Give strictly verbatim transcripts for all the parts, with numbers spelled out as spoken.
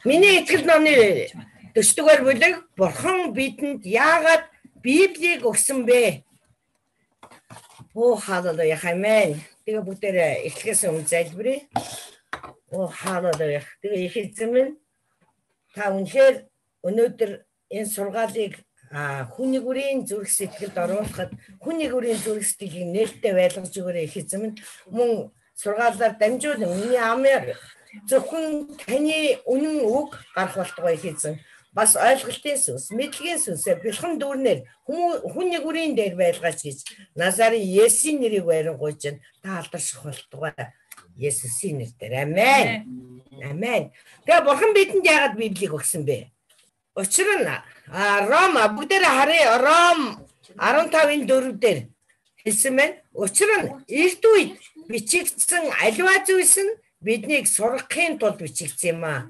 Миний итгэл номны дөрөвдүгээр бүлэг Бурхан бидэнд яагаад Библийг өгсөн бэ? Оо халелуя, амен. Тэгээ бүгдээрээ эхлэхээс өмнө залбирая. Оо халелуя. Тэгээ их эзэн минь та үнэхээр өнөөдөр энэ сургаалыг хүний бүрийн зүрх сэтгэлд оруулахад хүний бүрийн зүрх сэтгэлийг нээлттэй байлгаж өгөөрэй их эзэн минь. Мөн сургаалаар дамжуулан миний амаар зөвхөн таны үнэн үг гарах болтугай их эзэн. Бас ойлголтын сүнс, мэдлэгийн сүнсээр бэлхэн дүүрнээр хүний бүрийн дээр байлгаач гэж Назарын Есүсийн нэрийг байрангуйж байна. Та алдарших болтугай Есүсийн нэрээр. Амен. Амен. Тэгээ Бурхан бидэнд яагаад Библийг өгсөн бэ? Учир нь Ром бүгдээрээ харъя. Ром арван тавын дөрөв дээр хэлсэн байна. Учир нь эрт үед бичигдсэн аливаа зүйлс нь биднийг сургахын тулд бичигдсэн юм аа.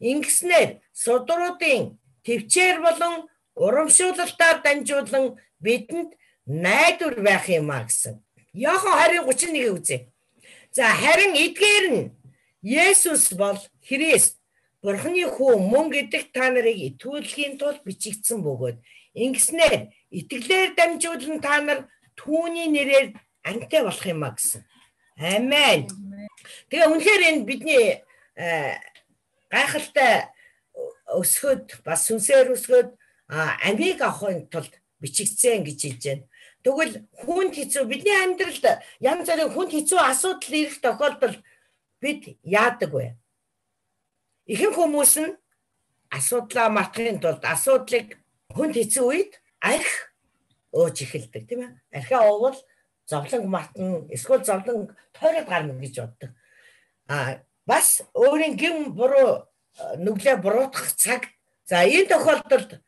Ингэснээр судруудын төвчээр болон урамшуулалтаар дамжуулан бидэнд найдвар байх юм аа гэсэн. Иохан харин гучин нэгийг үзье. За харин эдгээр нь Есүс бол Христ Бурханы хүү мөн гэдэг та нарыг итгүүлэхийн тулд бичигдсэн бөгөөд ингэснээр итгэлээр дамжуулан та нар түүний нэрээр амьтаа болох юм аа гэсэн. Амен. Тэгээ үнэхээр энэ бидний гайхалтай өсгөд бас сүнсээр өсгөд амийг авахын тулд бичигдсэн гэж хэлж байна. Тэгвэл хүнд хэцүү бидний амьдралд янз бүрийн хүнд хэцүү асуудал ирэх тохиолдолд бид яадаг вэ? Ихэнх хүмүүс нь асуудлаа мартахын тулд асуудлыг хүнд хэцүү үед арх өөж эхэлдэг тийм ээ. Архиа уувал зовлон мартна, эсвэл зовлон тойроод гарна гэж боддог. А бас өөрийн гин буруу нүглээ буруутгах цаг. За энэ тохиолдолд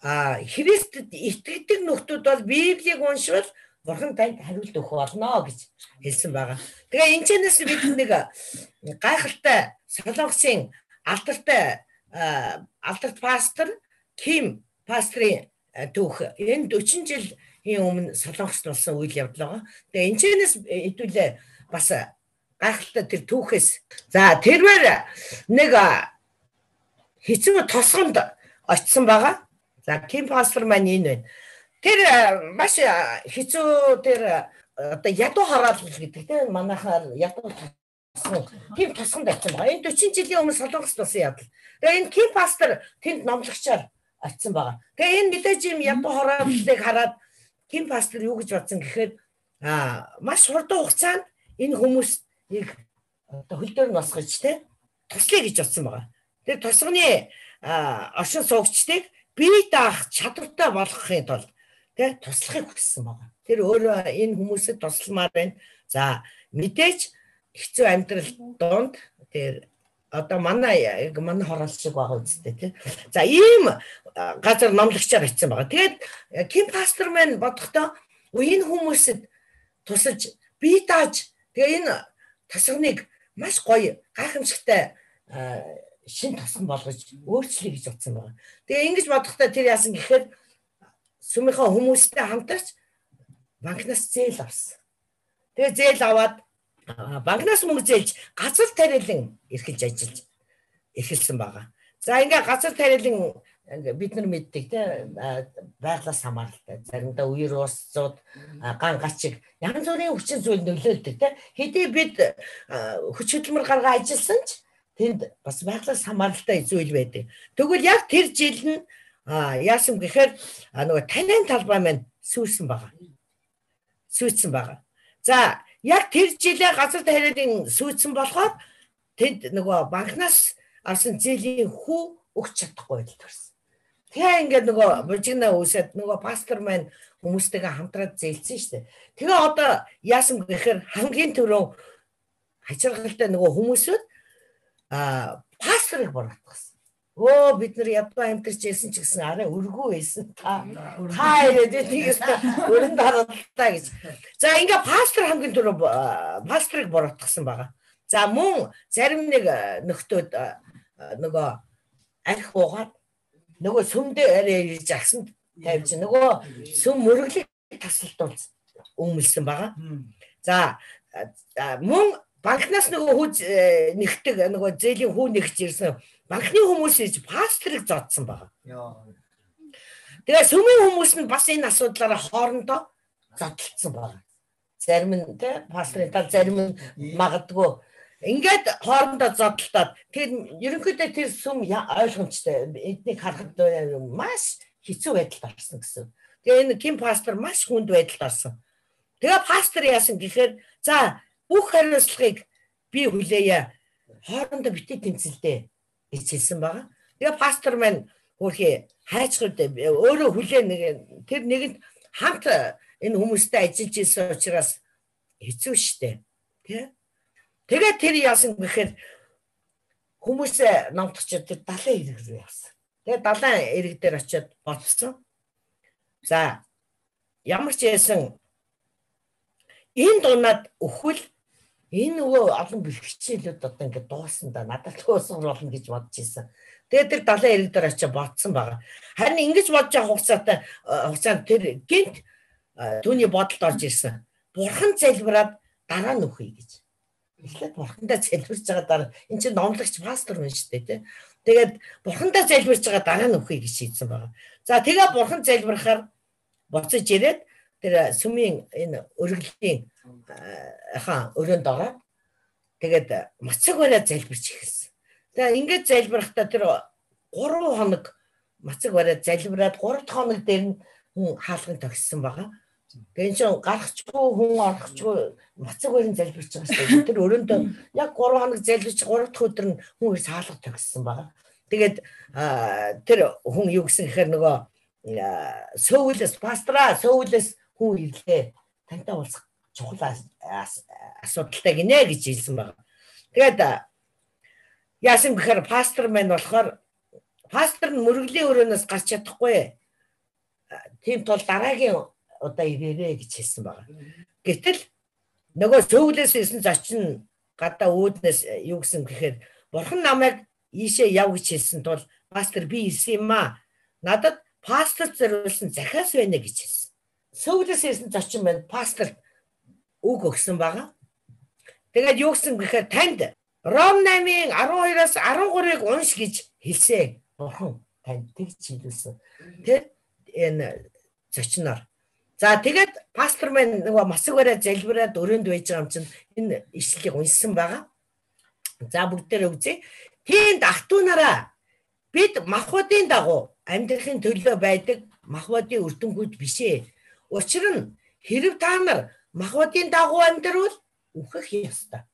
а Христэд итгэдэг нөхдүүд бол Библийг уншвал Бурхан танд хариулт өгөх болно гэж хэлсэн байгаа. Тэгээ энэ чэнэс бид нэг гайхалтай Солонгосын алдартай алдарт пастор Ким пастрын түүх энэ дөрвөн жилийн өмнө Солонгост болсон үйл явдал байгаа. Тэгээ энэ чэнэс хэдүүлээ бас гайхалтай тэр түүхээс за тэрвэр нэг хэцүү тосгонд очсон байгаа. За Ким пастор маань энэ байна. Тэр маш хэцүү тэр одоо ядуу хараал гэдэг тийм манайхаар ядуу тосгон тийм тосгонд очсон байгаа. Энэ дөрвөн жилийн өмнө Солонгост болсон явдал. Тэгээ энэ Ким пастор тэнд номлогчоор очсон байгаа. Тэгээ энэ мэдээж юм ядуу хараалыг хараад Ким пастор юу гэж бодсон гэхээр а маш хурдан хугацаанд энэ хүмүүс их одоо хөл дээр нь босгож те туслая гэж бодсон байгаа. Тэр тосгоны оршин суугчдыг бие даах чадвартай болгохын тулд те туслахыг хүссэн байгаа. Тэр өөрөө энэ хүмүүсэд тусламаар байна. За мэдээж хэцүү амьдрал донд тэр одоо манай манай хороол шиг байгаа үстэй те. За ийм газар номлогчоор очсон байгаа. Тэгээд Ким пастор маань бодохдоо энэ хүмүүсэд тусалж бие дааж тэгээ энэ тосгоныг маш гоё гайхамшигтай шин тосгон болгож өөрчлөе гэж бодсон байгаа. Тэгээ ингэж бодохдоо тэр яасан гэхээр сүмийнхаа хүмүүстэй хамтарч банкнаас зээл авсан. Тэгээ зээл аваад банкнаас мөнгө зээлж газар тариалан эрхэлж ажиллаж эхэлсэн байгаа. За ингээ газар тариалан бид нар мэддэг тийм байглаас хамааралтай. Заримдаа үер уусцууд ган гачиг янз бүрийн хүчин зүйл нөлөөлдөг тийм. Хэдий бид хүч хөдөлмөр гаргаа ажилласан ч тэнд бас байглаас хамааралтай зүйл байдаг. Тэгвэл яг тэр жил нь яасан гэхээр нөгөө танин талбай маань сүйсэн байгаа. Сүйсэн байгаа. За яг тэр жилээ газар тариалан сүйсэн болохоор тэнд нөгөө банкнаас авсан зээлийн хүү өгч чадахгүй байдал төрсөн. Тэгээ ингээд нөгөө бужигнаа үсэд нөгөө пастор маань хүмүүстэйгээ хамтраад зээлсэн шүү дээ. Тэгээ одоо яасан гэхээр хамгийн түрүү хачиргалтай нөгөө хүмүүсүүд а пасторыг буруутгасан. Оо бид нар ядуу амьдарч ирсэн ч гэсэн арай өргөө байсан. Та та ирээд тийгээс өрөнд харалтаа гэж. За ингээ пастор хамгийн түрүү пасторыг буруутгасан байгаа. За мөн зарим нэг нөхдөөд нөгөө арх уугаад нөгөө сүмдээ арай ирж агсан тавьж нөгөө сүм мөрөглөг тасалдуулж өмөлсөн байгаа. За мөн банкнаас нөгөө хүү нэгдэг нөгөө зээлийн хүү нэгж ирсэн банкны хүмүүс иж пастрыг зодсон байгаа. Тэгээ сүмийн хүмүүс нь бас энэ асуудлаараа хоорондоо зодтолцсон байгаа. Зарим нь тэ пастрын тал зарим нь магадгүй ингээд хоорондоо зодтолтоод тэр ерөнхийдөө тэр сүм ойлгомжтой эднийг харахад маш хэцүү байдалд орсон гэсэн. Тэгээ энэ Ким пастор маш хүнд байдалд орсон. Тэгээ пастор яасан гэхээр за бүх хариуцлагыг би хүлээе. Хоорондоо битээ тэмцэлдээ гэж хэлсэн байгаа. Тэгээ пастор маань хөрхи хайчгууд өөрөө хүлээн нэг тэр нэгэнд хамт энэ хүмүүстэй ажиллаж ирсэн учраас хэцүү шттэ. Тэ? Тэгээ тэр яасан гэхээр хүмүүсээ номтгочод тэр далайн ирэг рүү явсан. Тэгээ далайн ирэг дээр очиод бодсон. За ямар ч яасан энэ дунаад өхвөл энэ нөгөө олон бэлгчээлүүд одоо ингээд дуусан да надад туусан болно гэж бодож ирсэн. Тэгээ тэр далайн ирэг дээр очиод бодсон байгаа. Харин ингэж бодож байгаа хугацаатай хугацаанд тэр гинт түүний бодолд орж ирсэн. Бурхан залбираад дараа нь үхье гэж. Эхлээд бурхандаа залбирч байгаа дараа энэ чинь номлогч пастор байна шүү дээ тий. Тэгээд бурхандаа залбирч байгаа дараа нь үхье гэж шийдсэн байгаа. За тэгээ бурхан залбирахаар буцаж ирээд тэр сүмийн энэ өргөлийн хаа өрөөнд ороод тэгээд мацаг бариад залбирч эхэлсэн. Тэгээ ингээд залбирахтаа тэр гурван хоног мацаг бариад залбираад гурав дахь хоног дээр нь хүн хаалган тогссон байгаа. Тэгээ чинь гарахчгүй хүн орохчгүй мацаг барин залбирч байгаа шүү дээ. Тэр өрөөндөө яг гурван хоног залбирч гурав дахь өдөр нь хүн ирс хаалга тогссон байгаа. Тэгээд тэр хүн юу гэсэн гэхээр нөгөө сөүлэс пастора сөүлэс хүн ирлээ тантай уулзах чухал асуудалтай гинэ гэж хэлсэн байна. Тэгээд яасан гэхээр пастор маань болохоор пастор нь мөргөлийн өрөөнөөс гарч чадахгүй. Тийм тул дараагийн удаа ирээрээ гэж хэлсэн байна. Гэтэл нөгөө сөүлэс ирсэн зочин гадаа үүднээс юу гэсэн гэхээр бурхан намайг ийшээ яв гэж хэлсэн тул пастор би ирсэн юм аа. Надад пастор зориулсан захиас байна гэж хэлсэн. Сөүлэс ирсэн зочин маань пастор үг өгсөн байгаа. Тэгээд юу гэсэн гэхээр танд Ром намын арван хоёроос арван гурыг унш гэж хэлсэн. Бурхан танд тэгж хэлүүлсэн. Тэр энэ зочноор. За тэгээд пастор маань нөгөө мацаг бариад залбираад өрөөнд байж байгаа юм чинь энэ ишлэлийг уншсан байгаа. За бүгдээрээ үзье. Тийнд ах トゥ нараа бид махбодын дагуу амьдрахын төлөө байдаг махбодын үрдэнгүүд бишээ. Учир нь хэрв та нар махбодын дагуу амьдрал үхэх ёстой.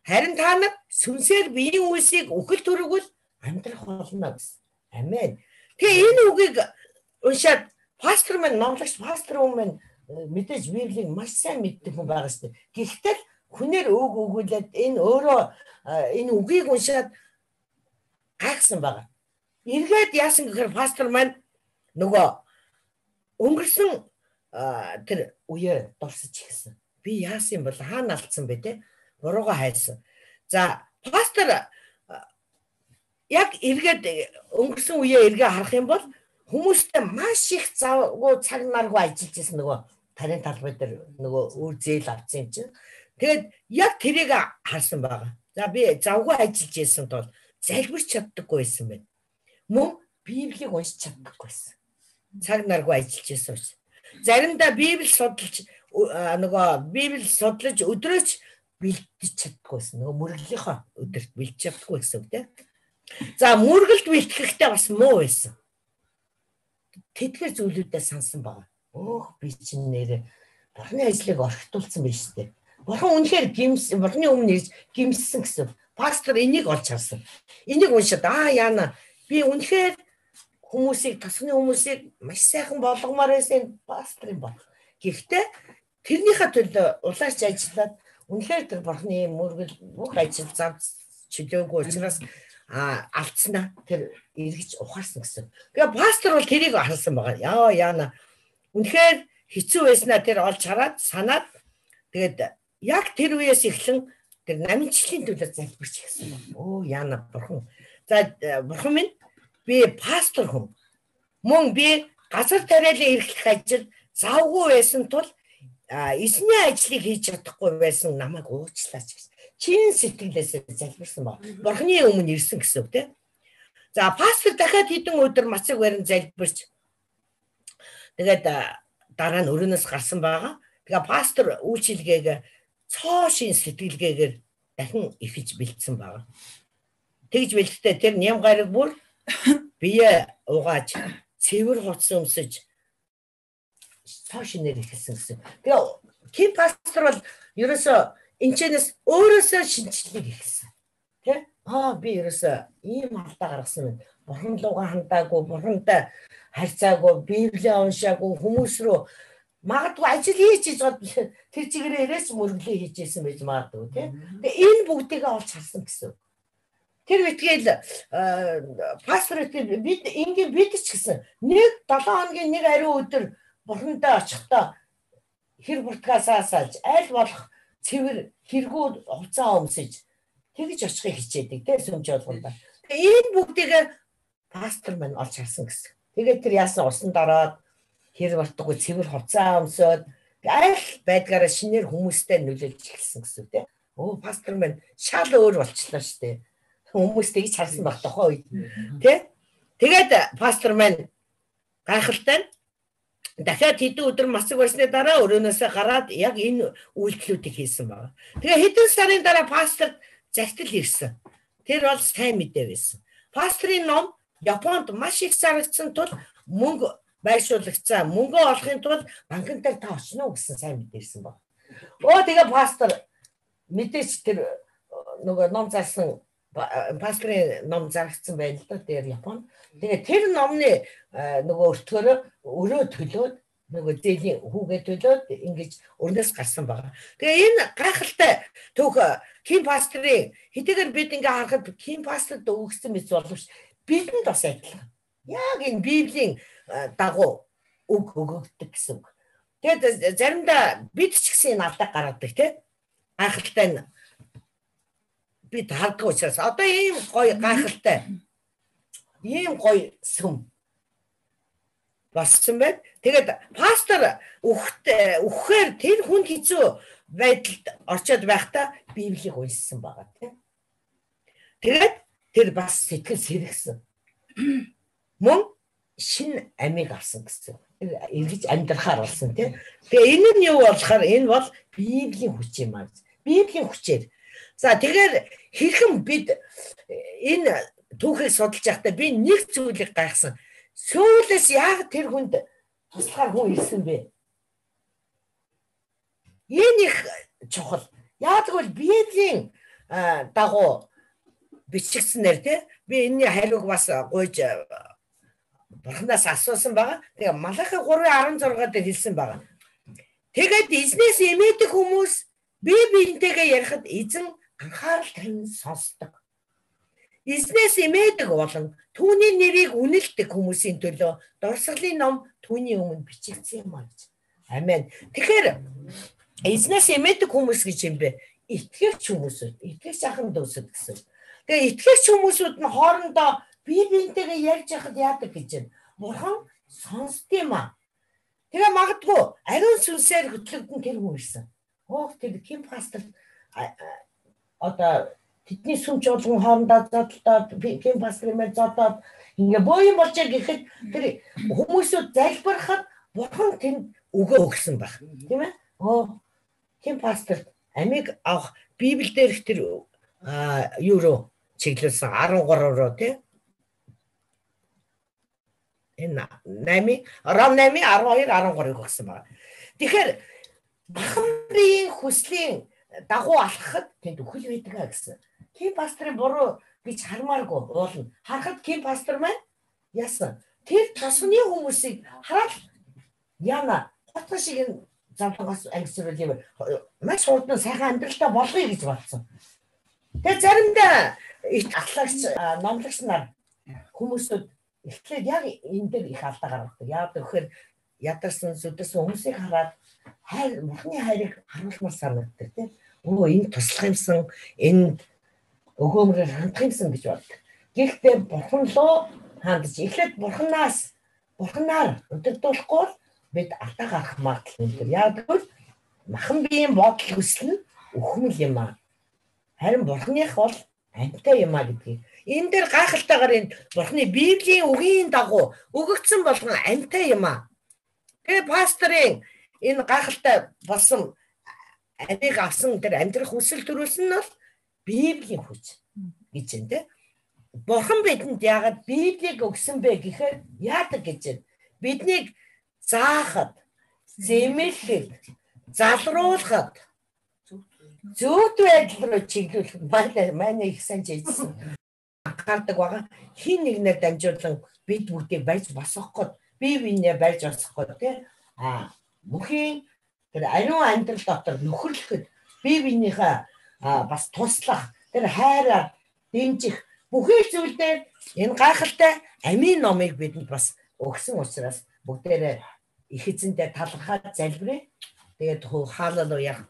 Харин та нар сүнсээр биеийн үйлсийг үхэл төрөгөл амьдрах болно гэсэн. Амен. Тэгээ энэ үгийг уншаад пастор маань номлогч пастор хүмүүс мэдээж Библийг маш сайн мэддэг хүн байгаа шүү дээ. Гэхдээ хүнээр үг өгүүлээд энэ өөрөө энэ үгийг уншаад гайхсан байгаа. Эргээд яасан гэхээр пастор маань нөгөө өнгөрсөн тэр үеэ дурсаж ихсэн. Би яасан юм бол хаана алдсан бэ те? Бурууга хайсан. За пастор яг эргээд өнгөрсөн үеэ эргээ харах юм бол хүмүүстэй маш их завгүй цаг наргүй ажиллаж байсан нөгөө тарийн талбай дээр нөгөө үр зээл авсан юм чинь. Тэгээд яг тэрийг харсан байгаа. За би завгүй ажиллаж байсан тул залбирч чаддаггүй байсан байна. Мөн Библийг уншиж чаддаггүй байсан. Цаг наргүй ажиллаж байсан учраас. Заримдаа Библи судалж нөгөө Библи судлаж өдрөөч бэлдэж чаддаггүй байсан. Нөгөө мөрөглийнхөө өдөрт бэлдэж чаддаггүй гэсэн үг тийм. За мөргөлд бэлтгэхдээ бас муу байсан. Тэдгээр зүйлүүдээ сансан байгаа. Өөх би чинь нэрээ бурхны ажлыг орхитуулсан байна шүү дээ. Бурхан үнэхээр гимс бурхны өмнө ирж гимссэн гэсэн. Пастор энийг олж харсан. Энийг уншаад аа яана би үнэхээр хүмүүсийг тасганы хүмүүсийг маш сайхан болгомоор байсан пастор юм байна. Гэхдээ тэрнийхээ төлөө улаарч ажиллаад үнэхээр тэр бурхны мөргөл бүх ажил зав чөлөөгүй учраас а алдснаа тэр эргэж ухаарсан гэсэн. Тэгээ пастор бол тэрийг харсан байгаа. Яа яана үнэхээр хэцүү байснаа тэр олж хараад санаад тэгээд яг тэр үеэс эхлэн тэр намжлалын төлөө залбирч гисэн. Оо яана бурхан. За бурхан минь би пастор хүн. Мөн би газар тариалан эрхлэх ажил завгүй байсан тул эзний ажлыг хийж чадахгүй байсан намайг уучлаач гэсэн. чин сэтгэлээсээ залбирсан баг. Бурхны өмнө ирсэн гэсэн үг тийм. За пастор дахиад хэдэн өдөр мацаг барин залбирч тэгээд дараа нь өрөөнөөс гарсан байгаа. Тэгээ пастор үйлчилгээг цоо шин сэтгэлгээгээр дахин ихэж бэлдсэн байгаа. Тэгж бэлдтээ тэр ням гараг бүр бие угааж цэвэр хоц өмсөж цоо шинээр ихэлсэн гэсэн. Тэгээ Ким пастор бол ерөөсөө энэчнээс өөрөөсөө шинжлэх ихэлсэн. Тэ? Аа би ерөөсөө ийм алдаа гаргасан юм. Бурхан лугаа хандаагүй, бурхантай харьцаагүй, Библийг уншаагүй, хүмүүс рүү магадгүй ажил хийж чад тэр чигээрээ ирээс мөрөглөө хийжсэн байж магадгүй тийм. Тэгээ энэ бүгдийг олж харсан гэсэн. Тэр битгээл пастор бид ингийн бид ч гэсэн нэг долоо хоногийн нэг ариун өдөр бурхантай очихдоо хэр буртгасаа салж аль болох цэвэр хэрэгүүд хуцаа өмсөж тэгж очихыг хичээдэг тийм сүмж болгонда. Тэгээ энэ бүгдийг пастор маань олж харсан гэсэн. Тэгээд тэр яасан усан дараад хэр бартгүй цэвэр хуцаа өмсөд аль байдгаараа шинээр хүмүүстэй нөлөөлж эхэлсэн гэсэн тийм. Оо пастор маань шал өөр болчихлоо шүү дээ. Хүмүүс тэгж харсан баг тохоо үед тийм. Тэгээд пастор маань гайхалтай дахиад хэдэн өдөр мацаг барсны дараа өрөөнөөсөө гараад яг энэ үйлдэлүүдийг хийсэн байна. Тэгээ хэдэн сарын дараа пастор захидал ирсэн. Тэр бол сайн мэдээ байсан. Пастрын ном Японд маш их зарагдсан тул мөнгө байршуулагдсан. Мөнгө олохын тулд банкн дээр та очно гэсэн сайн мэдээ ирсэн байна. Оо тэгээ пастор мэдээж тэр нөгөө ном зарсан пастрын ном зарагдсан байна л да тэр Японд. Тэгээ тэр номны нөгөө өртгөөрөө өрөө төлөөд нөгөө зээлийн хүүгээ төлөөд ингэж өрнөөс гарсан байгаа. Тэгээ энэ гайхалтай түүх Ким пастрын хэдийгээр бид ингээ харахад Ким пастрт өгсөн мэт боловч бидэнд бас адилхан. Яг энэ Библийн дагуу үг өгөгддөг гэсэн үг. Тэгээд заримдаа бид ч гэсэн энэ алдааг гаргадаг тийм. Гайхалтай нь бид харддаг учраас одоо ийм гоё гайхалтай ийм гоё сүм болсон байд. Тэгээд пастор үхтэй үхэхээр тэр хүн хэцүү байдалд орчод байхдаа Библийг уншсан байгаа тийм. Тэгээд тэр бас сэтгэл сэргсэн. Мөн шин амийг авсан гэсэн. Эргэж амьдрахаар болсон тийм. Тэгээ энэ нь юу болохоор энэ бол Библийн хүч юм аа. Библийн хүчээр. За тэгэхээр хэрхэн бид энэ түүхийг судалж байхдаа би нэг зүйлийг гайхсан. Сүүлээс яг тэр хүнд туслахаар хүн ирсэн бэ? Энэ их чухал. Яг тэгвэл Библийн дагуу бичигдсэнээр тий би энэний хариуг бас гуйж Бурханаас асуусан байгаа. Тэгээ Малахи гурван арван зургаар дээр хэлсэн байгаа. Тэгээд эзнээс эмээдэг хүмүүс бие биентэйгээ ярихад эзэн анхаарал тавин сонсдог. Эзнээс эмээдэг болон түүний нэрийг үнэлдэг хүмүүсийн төлөө дурсгалын ном түүний өмнө бичигдсэн юм аа гэж. Амен. Тэгэхээр эзнээс эмээдэг хүмүүс гэж юм бэ? Итгэгч хүмүүсүүд, итгэгч ахын дүүсэд гэсэн. Тэгээ итгэгч хүмүүсүүд нь хоорондоо бие биентэйгээ ярьж байхад яадаг гэж байна. Бурхан сонсд юм аа. Тэгээ магадгүй ариун сүнсээр хөтлөгдөн тэр хүн ирсэн. Оо тэр Ким пастор одоо тэдний сүмч болгон хоорондоо зодтолдоод Ким пастрын мэл зодоод ингээ бooyin болж гэхэд тэр хүмүүсүүд залбирахад Бурхан тэнд өгөө өгсөн баг. Тийм ээ? Оо Ким пастор амиг авах Библиэлд тэр юу руу чиглүүлсэн арван гурав руу тий. Энэ нами рам нами арван хоёр арван гурав гэсэн байна. Тэгэхээр Бурханы хүслийн дагуу алхахад тэнд үхэл байдаг гэсэн. Ким пастрын буруу гэж хармааргүй уулна. Харахад Ким пастор маань яасан? Тэр тосны хүмүүсийг хараад яна хотго шиг замтангаас ангисрал юм. Маш хурдан сайхан амьдралтай болгоё гэж бодсон. Тэгээ заримдаа их ахлагч номлогч нар хүмүүсүүд эхлээд яг энэ дээр их алдаа гаргадаг. Яг тэгэхээр ядарсан зүдсэн хүмүүсийг хараад хайр Бурханы хайрыг харуулмаар санагддаг тийм. Өө энэ туслах юмсан, энэ өгөөмрөөр хандах юмсан гэж боддог. Гэхдээ Бурхан руу хандж эхлээд Бурханаас Бурханаар өдөрдүүлэхгүй бол бид алдаа гарах магадлал өндөр. Яг тэгвэл махан биеийн бодол хүсэл нь өхмөл юм аа. Харин Бурханых бол амьтай юм а гэдгийг. Энэ дээр гайхалтайгаар энэ Бурханы Библийн үгийн дагуу өгөгдсөн болгон амьтай юм а. Тэгээ пасторын энэ гайхалтай болсон амийг авсан тэр амьдрах хүсэл төрүүлсэн нь бол Библийн хүч гэж байна те. Бурхан бидэнд яагаад Библийг өгсөн бэ гэхээр яадаг гэж байна. Биднийг заахад, зэмлэхэд, залруулахад, зөвхт байдал руу чиглүүлэх манай манай их сайн жийсэн. Анхаардаг байгаа. Хин нэгнээр дамжуулан бид бүгдийг барьж босгох гээд, бие биенээ барьж босгох гээд те. А бүхийн тэр ариун амьдрал дотор нөхөрлөхөд бие биенийхээ бас туслах, тэр хайраар дэмжих бүхий зүйлээр энэ гайхалтай амийн номыг бидэнд бас өгсөн учраас бүгдээрээ их эзэндээ талархаад залбирая. Тэгээд хаалалуя.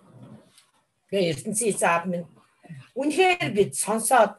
Тэгээ ертөнцийн эзэн аав минь үнэхээр бид сонсоод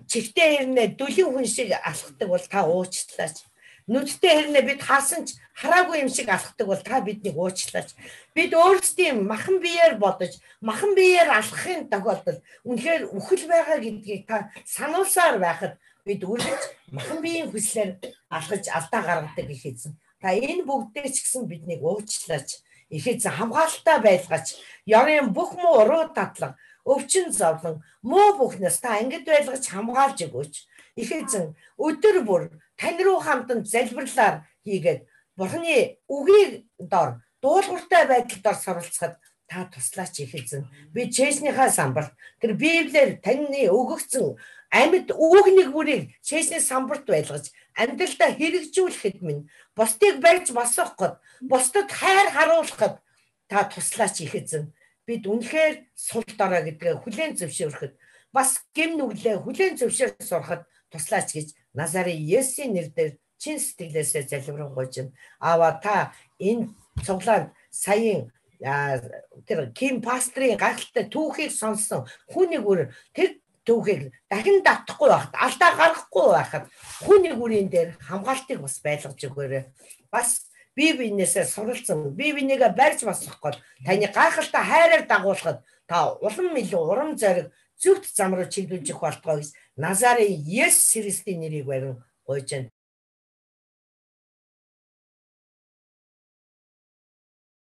чихтэй хэрнээ дүлийн хүн шиг алхдаг бол та уучлаач. Нүдтэй хэрнээ бид хаасан ч хараагүй юм шиг алхдаг бол та биднийг уучлаач. Бид өөрсдийн махан биеэр бодож, махан биеэр алхахын тохиолдолд үнэхээр үхэл байгаа гэдгийг та сануулсаар байхад бид үргэлж махан биеийн хүслээр алхаж алдаа гаргадаг их эзэн. Та энэ бүгдээ ч гэсэн биднийг уучлаач. Их эзэн хамгаалалтаа байлгаач. Ёрын бүх муу уруу татлан, өвчин зовлон, муу бүхнээс та ангид байлгаж хамгаалж өгөөч. Их эзэн өдөр бүр тань руу хамтан залбирлаар хийгээд Бурханы үгийг дор дуулууртай байдалд ор суралцахад та туслаач их эзэн. Би чэйснийхаа самбарт тэр Библиэр таны өгөгдсөн амьд үг нэг бүрийг чэйсний самбарт байлгаж амьдралдаа хэрэгжүүлэхэд минь бусдыг барьж босгоход, бусдад хайр харуулахад та туслаач их эзэн. Бид үнэхээр сул дорой гэдгээ хүлээн зөвшөөрөхөд бас гэм нүглээ хүлээн зөвшөөрөх сурахад туслаач гэж Назарын Есүсийн нэрээр чин сэтгэлээсээ залбирanгуйж байна. Аава та энэ цуглаанд саяын тэр Ким пастрын гайхалтай түүхийг сонссон хүний бүр тэр түүхийг дахин давтахгүй байхад, алдаа гаргахгүй байхад хүний бүрийн дээр хамгаалтыг бас байлгаж өгөөрэй. Бас бие биенээсээ суралцсан, бие бинийгээ барьж босгох гээд таны гайхалтай хайраар дагуулхад та улам илүү урам зориг зөвхт зам руу чиглүүлж өгөх болтгоо гэж Назарын Есүс Христийн нэрийг барин гуйж байна.